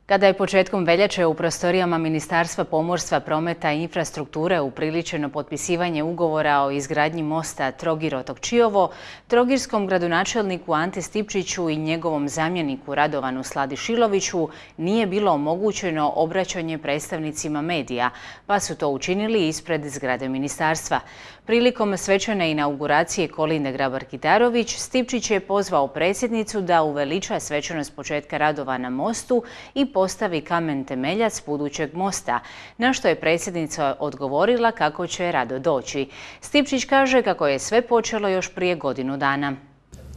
Kada je početkom veljače u prostorijama Ministarstva pomorstva, prometa i infrastrukture upriličeno potpisivanje ugovora o izgradnji mosta Trogir-otok Čiovo, trogirskom gradonačelniku Ante Stipčiću i njegovom zamjeniku Radovanu Sladišiloviću nije bilo omogućeno obraćanje predstavnicima medija, pa su to učinili ispred zgrade ministarstva. Prilikom svečane inauguracije Kolinde Grabar-Kitarović, Stipčić je pozvao predsjednicu da uveliča svečanost početka radova na mostu i postavi kamen temeljac budućeg mosta, na što je predsjednica odgovorila kako će rado doći. Stipčić kaže kako je sve počelo još prije godinu dana.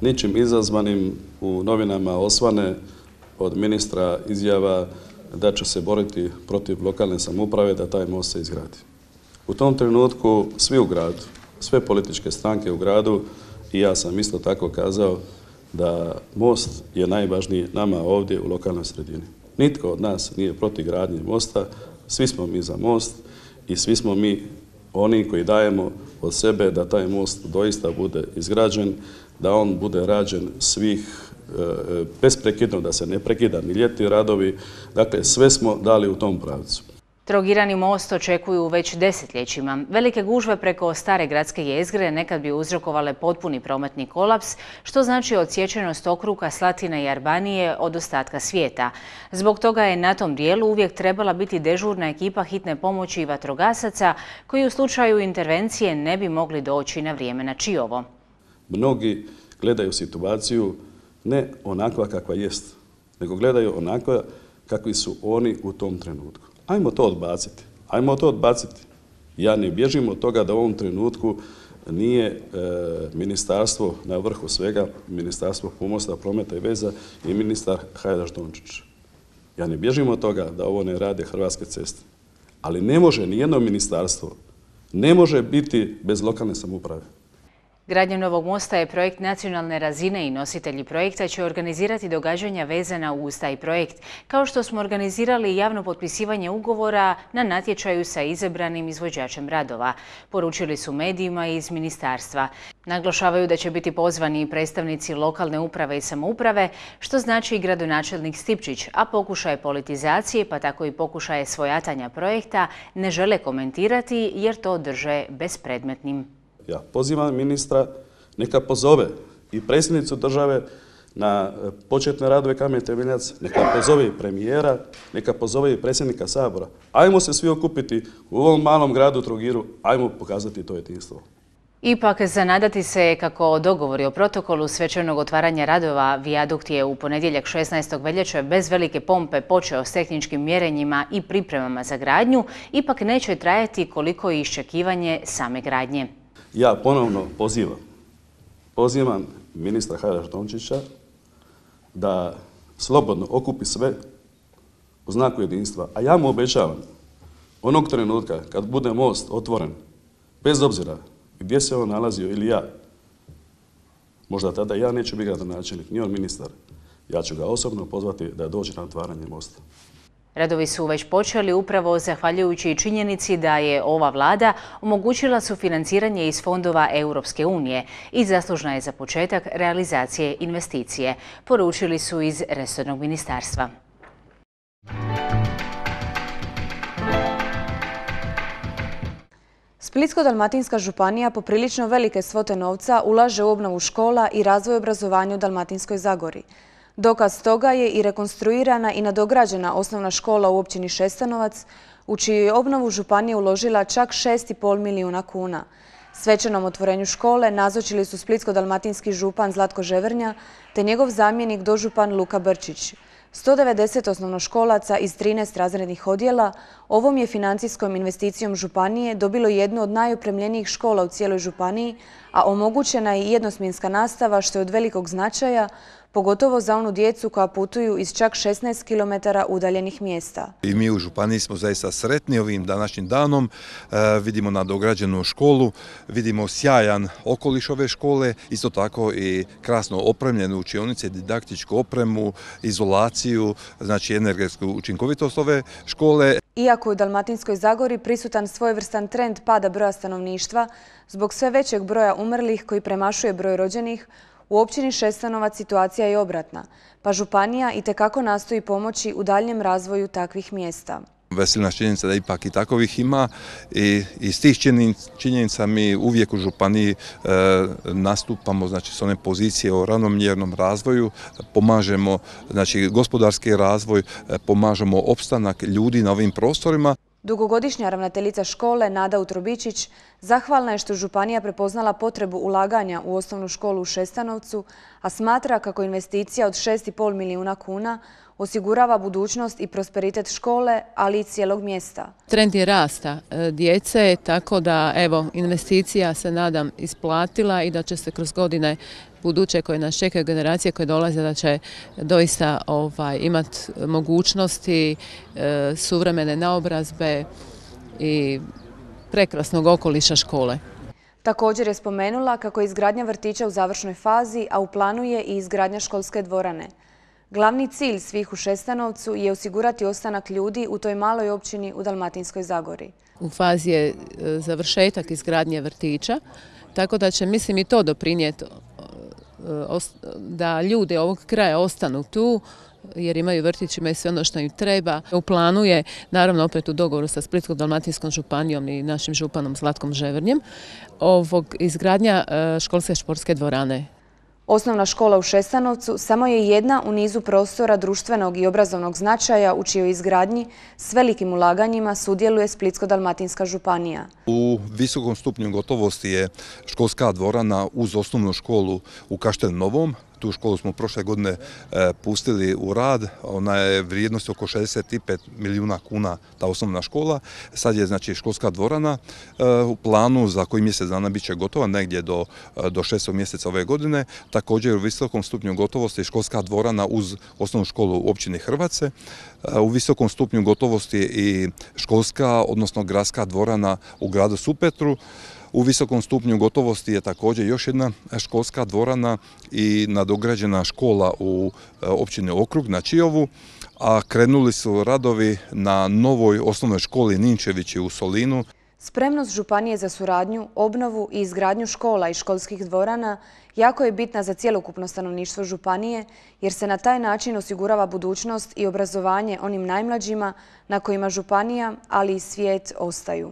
Ničim izazvanim u novinama osvane od ministra izjava da će se boriti protiv lokalne samouprave da taj most se izgradi. U tom trenutku svi u gradu, sve političke stranke u gradu i ja sam isto tako kazao da most je najvažniji nama ovdje u lokalnoj sredini. Nitko od nas nije protiv gradnje mosta, svi smo mi za most i svi smo mi oni koji dajemo od sebe da taj most doista bude izgrađen, da on bude rađen besprekidno, da se ne prekida ni ljetni radovi. Dakle, sve smo dali u tom pravcu. Trogirani most očekuju već desetljećima. Velike gužve preko stare gradske jezgre nekad bi uzrokovale potpuni prometni kolaps, što znači odsječenost okruga Slatine i Arbanije od ostatka svijeta. Zbog toga je na tom dijelu uvijek trebala biti dežurna ekipa hitne pomoći i vatrogasaca koji u slučaju intervencije ne bi mogli doći na vrijeme na Čiovo. Mnogi gledaju situaciju ne onakva kakva jest, nego gledaju onakva kakvi su oni u tom trenutku. Ajmo to odbaciti. Ja ne bježim od toga da u ovom trenutku nije ministarstvo na vrhu svega, Ministarstvo pomorstva, prometa i veza i ministar Hajdaš Dončić. Ja ne bježim od toga da ovo ne rade Hrvatske ceste. Ali ne može nijedno ministarstvo, ne može biti bez lokalne samouprave. Gradnja novog mosta je projekt nacionalne razine i nositelji projekta će organizirati događanja vezana uz taj projekt, kao što smo organizirali javno potpisivanje ugovora na natječaju sa izabranim izvođačem radova, poručili su medijima iz ministarstva. Naglašavaju da će biti pozvani predstavnici lokalne uprave i samouprave, što znači i gradonačelnik Stipčić, a pokušaje politizacije, pa tako i pokušaje svojatanja projekta, ne žele komentirati jer to drže bespredmetnim. Ja pozivam ministra neka pozove i predsjednicu države na početne radove kamen temeljac, neka pozove i premijera, neka pozove i predsjednika Sabora. Ajmo se svi okupiti u ovom malom gradu Trogiru, ajmo pokazati to jedinstvo. Ipak, zanadati se kako dogovori o protokolu svečanog otvaranja radova vijadukt je u ponedjeljak 16. veljače bez velike pompe počeo s tehničkim mjerenjima i pripremama za gradnju, ipak neće trajati koliko i iščekivanje same gradnje. Ja ponovno pozivam ministra Hajdaš Dončića da slobodno okupi sve u znaku jedinstva. A ja mu obećavam, onog trenutka kad bude most otvoren, bez obzira gdje se on nalazio ili ja, možda tada ja neću biti gradonačelnik, ni on ministar, ja ću ga osobno pozvati da dođe na otvaranje mosta. Radovi su već počeli upravo zahvaljujući činjenici da je ova vlada omogućila sufinanciranje iz fondova Europske unije i zaslužna je za početak realizacije investicije, poručili su iz resornog ministarstva. Splitsko-dalmatinska županija poprilično velike svote novca ulaže u obnovu škola i razvoj obrazovanja u Dalmatinskoj Zagori. Dokaz toga je i rekonstruirana i nadograđena osnovna škola u općini Šestanovac, u čiju je obnovu županija uložila čak 6,5 milijuna kuna. Svečanom otvorenju škole nazočili su splitsko-dalmatinski župan Zlatko Ževernja te njegov zamjenik dožupan Luka Brčić. 190 osnovnoškolaca iz 13 razrednih odjela ovom je financijskom investicijom županije dobilo jednu od najopremljenijih škola u cijeloj županiji, a omogućena je i jednosmjenska nastava što je od velikog značaja, pogotovo za onu djecu koja putuju iz čak 16 km udaljenih mjesta. I mi u županiji smo zaista sretni ovim današnjim danom. Vidimo nadograđenu školu, vidimo sjajan okoliš ove škole, isto tako i krasno opremljene učionice, didaktičku opremu, izolaciju, znači energetsku učinkovitost ove škole. Iako je u Dalmatinskoj Zagori prisutan svojevrstan trend pada broja stanovništva, zbog sve većeg broja umrlih koji premašuje broj rođenih, U općini Šestanovac situacija je obratna, pa županija itekako nastoji pomoći u daljnjem razvoju takvih mjesta. Veseli nas činjenica da ipak i takovih ima i iz tih činjenica mi uvijek u županiji nastupamo, znači, s one pozicije o ravnomjernom razvoju, pomažemo, znači, gospodarski razvoj, pomažemo opstanak ljudi na ovim prostorima. Dugogodišnja ravnateljica škole Nada Utrobičić zahvalna je što županija prepoznala potrebu ulaganja u osnovnu školu u Šestanovcu, a smatra kako investicija od 6,5 milijuna kuna osigurava budućnost i prosperitet škole, ali i cijelog mjesta. Trend je rasta djece, tako da evo, investicija se nadam isplatila i da će se kroz godine buduće koje nas čekaju, generacije koje dolaze, da će doista imati mogućnosti suvremene naobrazbe i prekrasnog okoliša škole. Također je spomenula kako je izgradnja vrtića u završnoj fazi, a u planu je i izgradnja školske dvorane. Glavni cilj svih u Šestanovcu je osigurati ostanak ljudi u toj maloj općini u Dalmatinskoj Zagori. U fazi je završetak izgradnje vrtića, tako da će, mislim, i to doprinijeti da ljudi ovog kraja ostanu tu, jer imaju vrtić, imaju sve ono što im treba. U planu je, naravno opet u dogovoru sa Splitsko-dalmatinskom županijom i našim županom Zlatkom Ževernjem, izgradnja školske športske dvorane. Osnovna škola u Šestanovcu samo je jedna u nizu prostora društvenog i obrazovnog značaja u čijoj izgradnji s velikim ulaganjima sudjeluje Splitsko-dalmatinska županija. U visokom stupnju gotovosti je školska dvorana uz osnovnu školu u Kaštel Novom. Tu školu smo prošle godine pustili u rad, ona je vrijednosti oko 65 milijuna kuna, ta osnovna škola. Sad je, znači, školska dvorana u planu za koji mjesec dana bit će gotova, negdje do 6. mjeseca ove godine. Također u visokom stupnju gotovosti je školska dvorana uz osnovnu školu u općini Hrvace. U visokom stupnju gotovosti je i školska, odnosno gradska dvorana u gradu Supetru. U visokom stupnju gotovosti je također još jedna školska dvorana i nadograđena škola u općini Okrug na Čiovu, a krenuli su radovi na novoj osnovnoj školi Ninčevići u Solinu. Spremnost županije za suradnju, obnovu i izgradnju škola i školskih dvorana jako je bitna za cjelokupno stanovništvo županije, jer se na taj način osigurava budućnost i obrazovanje onim najmlađima na kojima županija, ali i svijet ostaju.